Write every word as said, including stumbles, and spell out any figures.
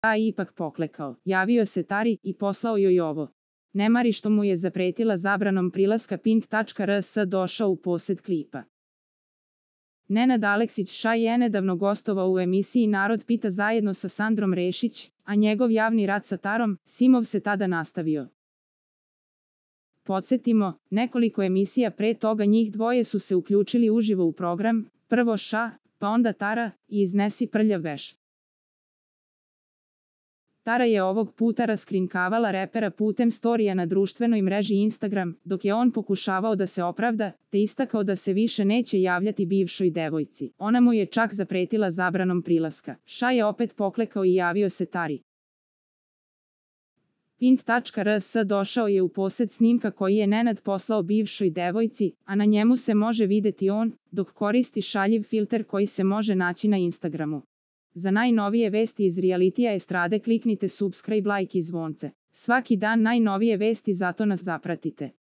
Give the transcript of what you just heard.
a ipak poklekao. Javio se Tari i poslao joj ovo. Ne mari što mu je zapretila zabranom prilaska Pink.rs došao u posjed klipa. Nenad Aleksić Ša je nedavno gostovao u emisiji Narod pita zajedno sa Sandrom Rešić, a njegov javni rat sa Tarom, Simov se tada nastavio. Podsjetimo, nekoliko emisija pre toga njih dvoje su se uključili uživo u program, prvo Ša, pa onda Tara, i iznesi prljav veš. Tara je ovog puta raskrinkavala repera putem storija na društvenoj mreži Instagram, dok je on pokušavao da se opravda, te istakao da se više neće javljati bivšoj devojci. Ona mu je čak zapretila zabranom prilaska. Ša je opet poklekao i javio se Tari. Pink.rs došao je u posjed snimka koji je Nenad poslao bivšoj devojci, a na njemu se može videti on, dok koristi šaljiv filter koji se može naći na Instagramu. Za najnovije vesti iz realitija estrade kliknite subscribe, like i zvonce. Svaki dan najnovije vesti, zato nas zapratite.